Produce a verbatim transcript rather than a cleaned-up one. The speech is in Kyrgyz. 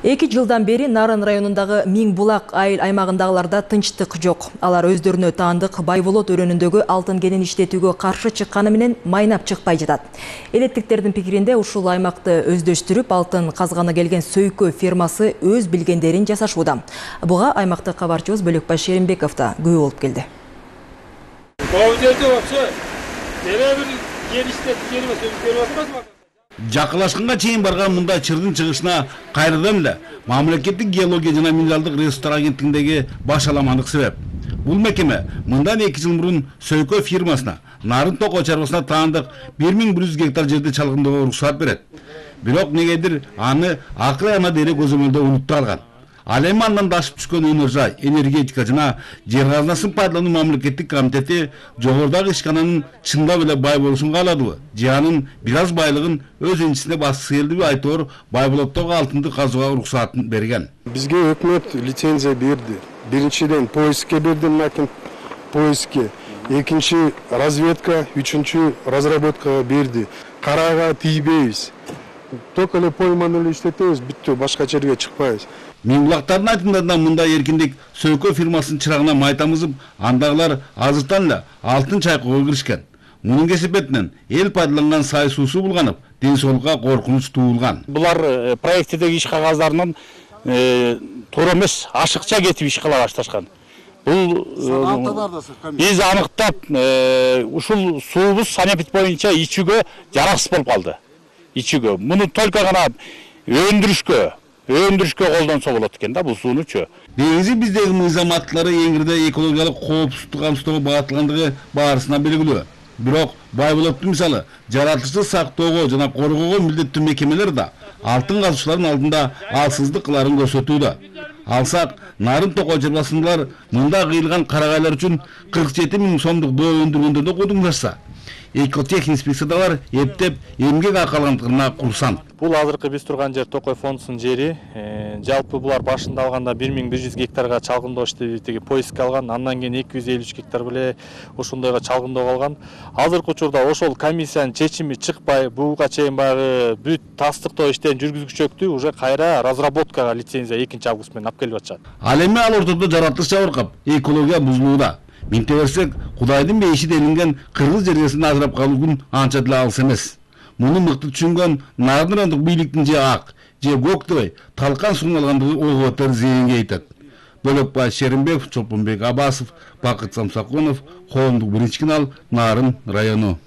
Эки жылдан бери Нарын районундагы Миң Булак айыл аймагындагыларда тынчтык жок. Алар өздөрүнө таандык Байболот өрөөнүндөгү алтын кенин иштетүүгө каршы чыкканы менен майнап чыкпай жатат. Элеттиктердин пикиринде ушул аймакты өздөштүрүп, алтын казганы келген Сөйкө фирмасы өз билгендерин жасашууда. Буга аймактык кабарчыбыз Бөлөкбай Шеримбеков да күбө болуп келди. Жакылашканга чейин барган мында чырдын чыгышына кайрадан эле мамлекеттик геология жана минералдык ресурстар агенттигиндеги баш аламандык себеп. Бул мекеме мындан эки жыл мурун Сөйкө фирмасына Нарын Токой чарбасына таандык бир миң бир жүз гектар жерди чалгындоого уруксат берет. Бирок негедир аны акыл ана дере көзөмөлдө унутту алган. Ал эми андан дашып түшкөн өнөр жай, энергетика жана жер казынасын пайдалануу мамлекеттик комитети жогорудагы ишкананын чындап эле бай болушун кааладыбы, же анын бир аз байлыгын өз энчисине баскысы келдиби айтор Байболоттогу алтынды казууга уруксатын берген. Бизге өкмөт лицензия берди. Биринчиден поискке берди, макин поискке, экинчи разведка, үчүнчү разработкага берди. Карага тийбейбиз. Только эле пойманы эле иштетебиз, бүттү, башка жерге чыкпайбыз. Миң Булактардын айтымдарында мында эркиндик Сөйкө фирмасынын чырагына май тамызып, андагылар азыртан эле алтын чайкоого киришкен. Мунун кесепетинен эл пайдаланган сай суусу булганып, ден соолукка коркунуч туулган. Булар проекттеги иш кагаздарынын туура эмес, ашыкча кетип иш кыла башташкан. Бул биз аныктап, ушул суубуз санэпид боюнча ичүүгө жараксыз болуп калды. Ичүүгө. Муну только гана өндүрүшкө өндүрүшкө колдонсо болот экен да бул суунучу. Негизи биздеги мыйзам аттары эңирде экологиялык коопсуздук камсыздоого багытталгандыгы баарысына белгилүү. Бирок Байболотту мисалы жаратылышты сактоого жана коргоого милдеттүү мекемелер да алтын казуучулардын алдында алсыздык кыларын көрсөтүүдө. Алсак, Нарын Токой чарбасындагылар мында кыйылган карагайлар үчүн кырк жети миң сомдук доо өндүргөндөрдү кудуңдашса, экотех инспекциядагылар эптеп эмгек акы алгандыгына курсант. Бул азыркы биз турган жер Токой фондусунун жери. Жалпы булар башында алганда бир миң бир жүз гектарга чалгындоо иштетүүгө поиск алган, андан кийин эки жүз элүү үч гектар беле ошондойго чалгындоого алган. Азыркы учурда ошол комиссиянын чечими чыкпай, буга чейин баягы бүт тастыктоо иштерин жүргүзгүчөктү уже кайра разработкага лицензия экинчи август менен алып келип атышат. Ал эми ал ортодо жаратылыш жабыркап, экология бузулууда. Минте берсек, Кудайдын бейиши делинген кыргыз жергесин ажырап калуу күн анча деле алыс эмес. Муну мыкты түшүнгөн Нарын райондук бийликтин же ак, же көк дебей, талкан суун алгандыгы ого бетер зыянга айтат. Бөлөкбай Шеримбеков, Чолпонбек Абасов, Бакыт Самсакунов, Коомдук биринчи канал, Нарын району.